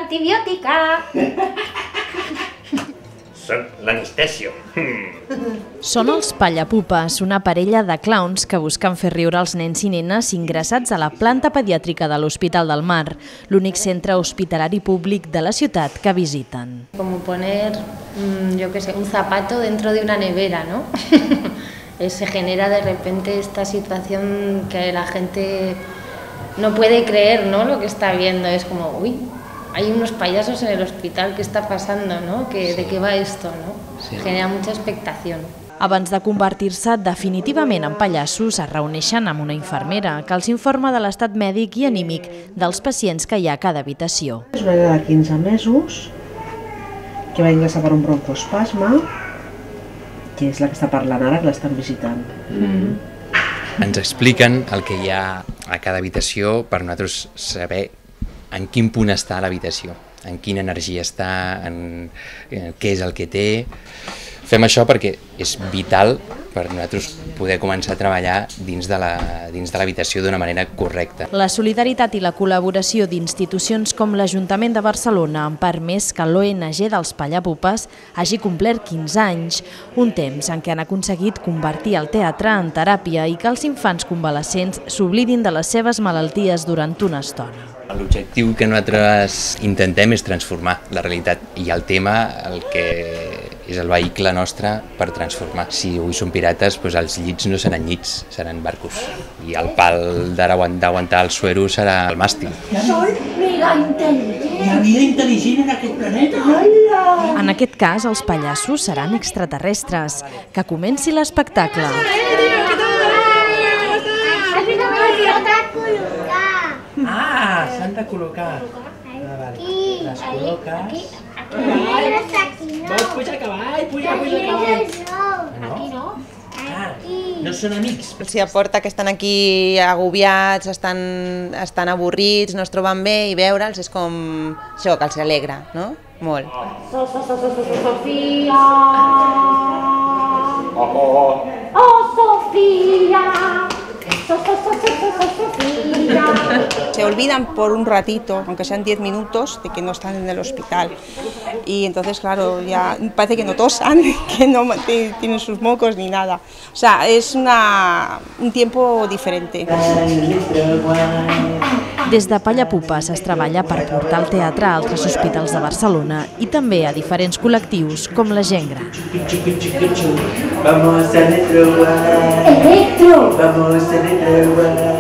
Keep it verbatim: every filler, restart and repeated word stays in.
antibiótica. Són l'anestèsio. Són els Pallapupes, una parella de clowns que busquen fer riure els nens i nenes ingressats a la planta pediàtrica de l'Hospital del Mar, l'únic centre hospitalari públic de la ciutat que visiten. Como poner, yo qué sé, un zapato dentro de una nevera, ¿no? Se genera de repente esta situación que la gente no puede creer, ¿no?, lo que está viendo. Es como, uy, hay unos payasos en el hospital, ¿qué está pasando, no? ¿De qué va esto, no? Sí. Genera mucha expectación. Abans de convertir-se definitivament en pallassos, es reuneixen amb una infermera que els informa de l'estat mèdic i anímic dels pacients que hi ha a cada habitació. És una nena de quinze mesos que va ingressar per un broncoespasme, que és la que està parlant ara, que l'estan visitant. Mm-hmm. Ens expliquen el que hi ha a cada habitació per nosaltres saber en quin punt està l'habitació, en quina energia està, en, en què és el que té. Fem això perquè és vital per nosaltres poder començar a treballar dins de la, dins de l'habitació d'una manera correcta. La solidaritat i la col·laboració d'institucions com l'Ajuntament de Barcelona han permès que l'O N G dels Pallapupes hagi complert quinze anys, un temps en què han aconseguit convertir el teatre en teràpia i que els infants convalescents s'oblidin de les seves malalties durant una estona. L'objectiu que nosaltres intentem és transformar la realitat i el tema el que és el vehicle nostre per transformar. Si avui són pirates, doncs els llits no seran llits, seran barcos. I el pal d'aguantar el suero serà el màstil. Soy mega intel·ligent. Hi ha vida intel·ligent en aquest planeta. En aquest cas, els pallassos seran extraterrestres. Que comenci l'espectacle. Ah, s'han de col·locar. Les col·loques. Vols pujar a cavall? Puja, puja a cavall. Aquí no? No són amics. Si aporta que estan aquí agobiats, estan, estan avorrits, no es troben bé i veure'ls és com això, que els alegra, no? Molt. Sofía. Oh, Sofía. Se olvidan por un ratito, aunque sean diez minutos, de que no están en el hospital. Y entonces, claro, ya parece que no tosan, que no tienen sus mocos ni nada. O sea, es una, un tiempo diferente. Des de Pallapupes es treballa per portar el teatre a altres hospitals de Barcelona i també a diferents col·lectius com la gent gran. Vamos a Electro. Vamos a Electro.